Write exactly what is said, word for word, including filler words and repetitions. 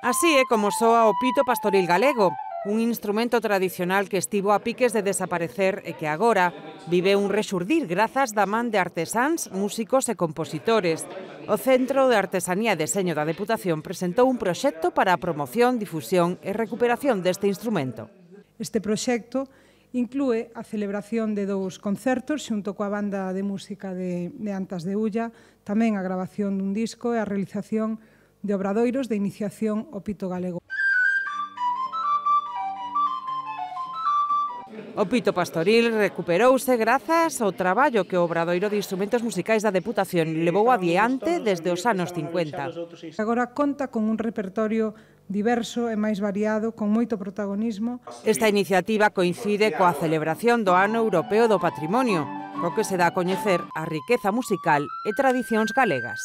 Así é como soa o pito pastoril galego, un instrumento tradicional que estivo a piques de desaparecer e que agora vive un rexurdir grazas da man de artesáns, músicos e compositores. O Centro de Artesanía e Deseño da Deputación presentou un proxecto para a promoción, difusión e recuperación deste instrumento. Este proxecto inclúe a celebración de dous concertos xunto coa banda de música de, de Antas de Ulla, tamén a grabación dun disco e a realización de obradoiros de iniciación ao pito galego. O pito pastoril recuperouse grazas ao traballo que o Obradoiro de Instrumentos Musicais da Deputación levou adiante desde os anos cincuenta. Agora conta con un repertorio diverso e máis variado, con moito protagonismo. Esta iniciativa coincide coa celebración do Ano Europeo do Patrimonio, co que se dá a coñecer a riqueza musical e tradicións galegas.